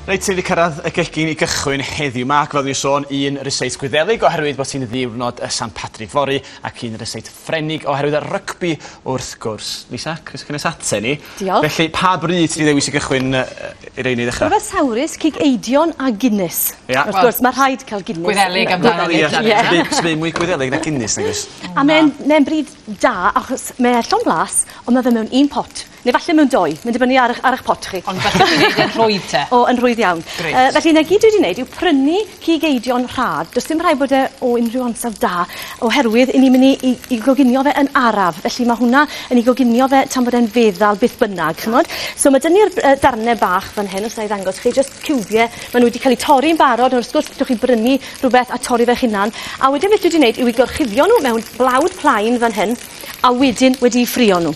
Reit, ti wedi cyrraedd y gegin i gychwyn heddiw 'ma, ac fel o'n i'n sôn, un ryseit Gwyddelig oherwydd bod hi'n ddiwrnod y San Padrig fory, ac un ryseit Ffrenig oherwydd y rygbi wrth gwrs. Lisa, croeso cynnes ate ni. Diolch. Felly, pa bryd ti 'di ddewis i gychwyn i rein i ddechra? Rhywbeth sawrus, cig eidion a Guinness. Ia. Wrth gwrs, ma' rhaid cael Guinness. Gwyddelig amdano Wel ie. Sdim byd mwy Gwyddelig na Guinness nag oes? A mae'n mae'n bryd da achos mae e llond blas, ond ma' fe mewn un pot. Neu falle mewn dou, mae'n dibynnu ar 'ych ar 'ych pot chi. Ond falle ti'n neud e'n rhwydd te? O, yn rhwydd iawn. Grêt. Felly 'na gyd dwi 'di neud yw prynu cig eidion rhad. Do's dim rhaid bod e o unrhyw ansawdd da oherwydd 'yn ni myn' i i i goginio fe yn araf. Felly ma' hwnna yn 'i goginio fe tan bod e'n feddal beth bynnag, ch'mod? So ma' 'dyn ni'r darne bach fan hyn os wnai ddangos chi jyst ciwbie ma' nw wedi ca'l 'u torri'n barod on' wrth gwrs gallwch chi brynu rhwbeth a torri fe'ch hunan. A wedyn beth dwi 'di neud yw i gorchuddio nw mewn blawd plaen fan hyn. A wedyn wedi 'u ffrio nw.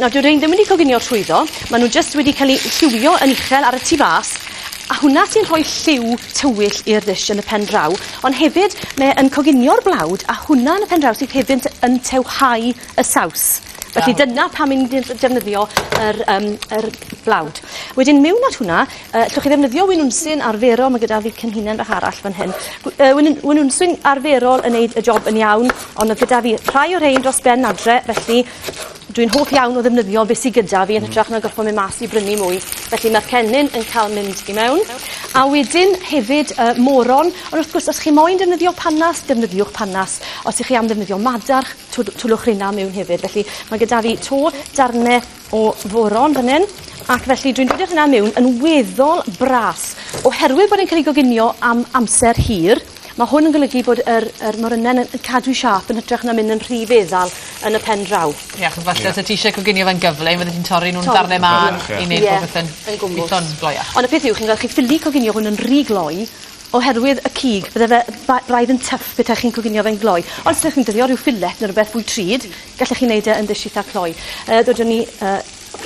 Nawr dyw rein ddim wedi coginio trwyddo, ma' nw jyst wedi ca'l 'u lliwio yn uchel ar y tu fas, a hwnna sy'n rhoi lliw tywyll i'r dish yn y pen draw, ond hefyd mae e yn coginio'r blawd a hwnna yn y pen draw sydd hefyd yn tewhau y saws. Felly dyna pam 'yn ni'n defnyddio yr yym yr blawd. Wedyn miwn at hwnna yy 'llwch chi ddefnyddio winwnsyn arferol ma' gyda fi cenhinen fach arall fan hyn. Winwnsyn arferol yn neud y job yn iawn ond o'dd gyda fi rhai o rhein dros ben adre felly dwi'n hoff iawn o ddefnyddio beth sy gyda fi yn hytrach na gorffo mynd mas i brynu mwy. Felly ma'r cennin yn ca'l mynd i mewn. A wedyn hefyd moron ond wrth gwrs os chi moyn defnyddio panas defnyddiwch panas. Os 'ych chi am ddefnyddio madarch twlwch reina mewn hefyd. Felly ma' gyda fi 'to darne o foron fan 'yn ac felly dwi'n dod â hwnna mewn yn weddol bras. Oherwydd bod e'n cael ei goginio am amser hir, ma' hwn yn golygu bod yr yr morynen yn cadw siâp yn hytrach na mynd yn rhy feddal yn y pen draw. Ie achos falle os o' ti isie coginio fe'n gyflym fyddet ti'n torri nw'n darne mân i neud popeth yn Yn gwmws. Gwitho'n gloiach. Ond y peth yw chi'n gweld chi ffili coginio hwn yn rhy gloi oherwydd y cig bydde fe braidd yn tyff petach chi'n coginio fe'n gloi. Ond os ydych chi'n defnyddio rhyw fillet ne' rwbeth fwy drud, gallech chi neud e yn ddish itha cloi. Dodwn ni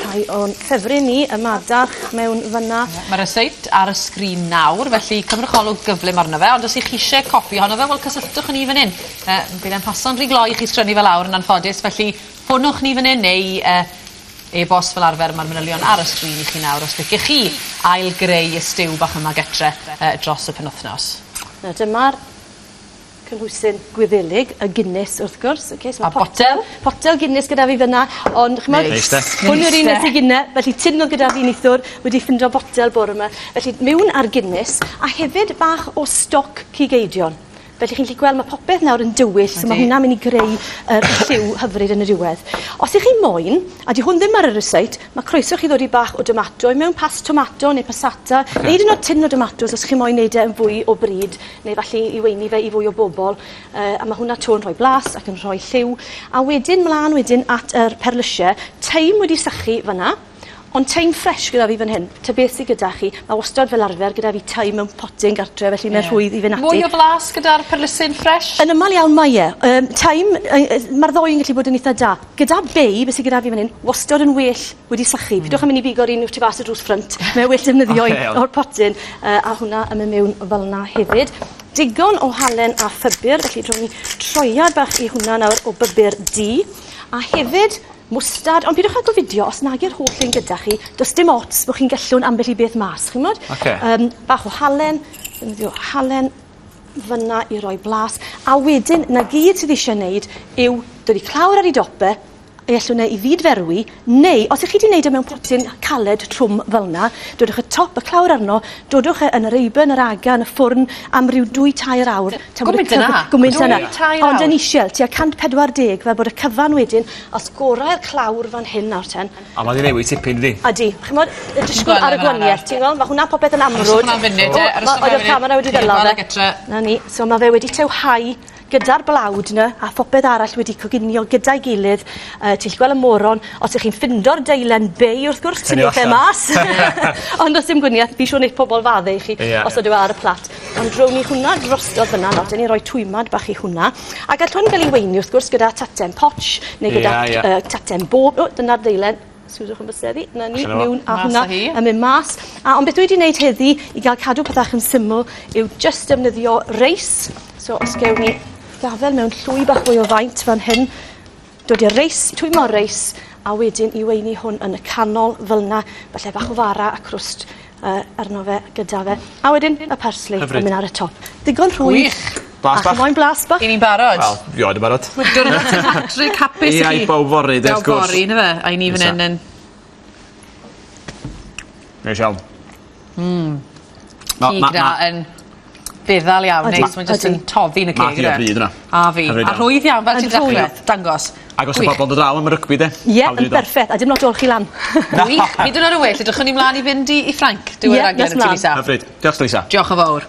rhai o'n ffefryn ni, y madarch mewn fyn 'na. Ie ma' ryseit ar y sgrin nawr felly cymrwch olwg gyflym arno fe ond os 'ych chi isie copi ohono fe wel cysylltwch â ni fan 'yn. Bydd e'n paso'n rhy gloi i chi sgrennu fe lawr yn anffodus felly ffonwch ni fan 'yn neu e-bost fel arfer ma'r manylion ar y sgrin i chi nawr os liciech chi ail greu y stew bach yma getre dros y penwthnos. Nawr dyma'r cynhwysyn Gwyddelig, y Guinness wrth gwrs. Oce so ma' A botel. Potel Guinness gyda fi fyn 'na ond ch'mod... Neis de? Hwn yw'r un nes i gynne felly tin o'dd gyda fi nithwr wedi ffindo botel bore 'ma. Felly miwn â'r Guinness a hefyd bach o stoc cig eidion. Felly chi'n gallu gweld ma' popeth nawr yn dywyll so ma' hwnna'n myn' i greu yr lliw hyfryd yn y diwedd. Os 'ych chi moyn, a 'di hwn ddim ar y ryseit, ma' croeso chi ddod i bach o domato i mewn past tomato neu passata neu 'yd yn o'd tin o domatos os chi moyn neud e yn fwy o bryd neu falle i weini fe i fwy o bobol a ma' hwnna 'to yn rhoi blas ac yn rhoi lliw. A wedyn mlan wedyn at yr perlysie, thyme wedi sychu fan 'na. Ond thyme ffres gyda fi fan hyn. Ta beth sy gyda chi, ma' wastod fel arfer gyda fi thyme mewn potyn gartre felly mae'n rhwydd i fyn' ati. Mwy o flas gyda'r perlysyn ffres? Yn ymal iawn mae e. Thyme ma'r ddou yn gallu bod yn itha da. Gyda bay, beth sy gyda fi fan 'yn, wastod yn well wedi sychu. Pidwch â myn' i bigo'r un tu fas y drws ffrynt. Mae well defnyddio un o'r potyn a hwnna yn myn' miwn fel 'na hefyd. Digon o halen a phybyr, felly rown ni troiad bach i hwnna nawr o bybyr du. A hefyd mwstad, ond pidwch â gofidio os nag yw'r holl un gyda chi, does dim ots bo' chi'n gellwn ambell i beth mas, chi'mod? Oce. Bach o halen, defnyddio halen fynna i roi blas, a wedyn 'na gyd sydd isie neud yw dod i clawr ar 'i dop e, ei allwn e i fyd-ferwi, neu os 'ych chi 'di neud e mewn potyn caled trwm fel 'na, dodwch y top y clawr arno, dodwch e yn yr eiben, yr aga, yn y ffwrn am ryw dwy tair awr. Tan bod y Gwmint yna? Gwmint yna. Dwy tair awr? Ond yn isiel, tua 140 fel bod y cyfan wedyn, os gorau'r clawr fan hyn nawr ten. A ma' 'di newid tipyn dydi? Ydi. Ch'mod, y disgwyl ar y gwanieth, ti'n gweld? Ma' hwnna popeth yn amrwd. Arhoswch am funud e, O, ma' oedd y camera wedi ddela fe. 'Na ni. So ma' fe wedi tewhau gyda'r blawd 'na a phopeth arall wedi coginio gyda'i gilydd. Ti'n gallu gweld y moron, os ych chi'n ffindo'r deilen bei wrth gwrs, tynnwch e mas. Ond os dim gwanieth, fi siŵr neith pobol fadde i chi os ydyw e ar y plat. Ond rown ni hwnna drostodd fyna, nawr, dyn ni roi twymad bach i hwnna. A gall hwn gael ei weini wrth gwrs gyda taten poch, neu gyda taten bob. O, dyna'r deilen. Sgwdwch yn bysedd i. 'Na ni, Allan o fo. miwn a Mas hwnna â hi. yn mynd mas. A ond beth dwi wedi wneud heddi i gael cadw pethach yn syml yw jyst defnyddio reis. So os gewn ni gafel mewn llwy bach fwy o faint fan hyn, dod i'r reis, twymo reis, a wedyn i weini hwn yn y canol fel 'na, falle bach o fara a crwst arno fe gyda fe. A wedyn y parsley Hyfryd. yn mynd ar y top. Digon rhwydd. Gwych. Blas A chi bach. moyn blas bach? I ni'n barod. Wel, rioed yn barod. Diwrnod St Patrick hapus i Ia, chi. i bawb fory, de, wrth Bawb gwrs. fory, yndyfe? A i ni fan Nesa. hyn yn... Neis iawn. Mm. Cig na yn feddal iawn, Odi, neis. Mae'n jyst odi. yn toddi yn y Ma' ceg. hi o yndyfe? bryd yna. A fi. Hyfryd A iawn. rhwydd iawn, fel Yn ti'n dechrau. rhwydd. Dangos. Ac os y Gwych. bobl yn dod draw am y rygbi, de. Ie, Hawdd i yn neud o. berffeth. A dim lot o olchi lan. Gwych. Hyd yn oed yn well, edrychwn ni mlaen i fynd i Ffrainc. Diwedd Ie, raglen nes y ti, mlaen. Lisa. Hyfryd. Diolch, Lisa. Diolch yn fawr.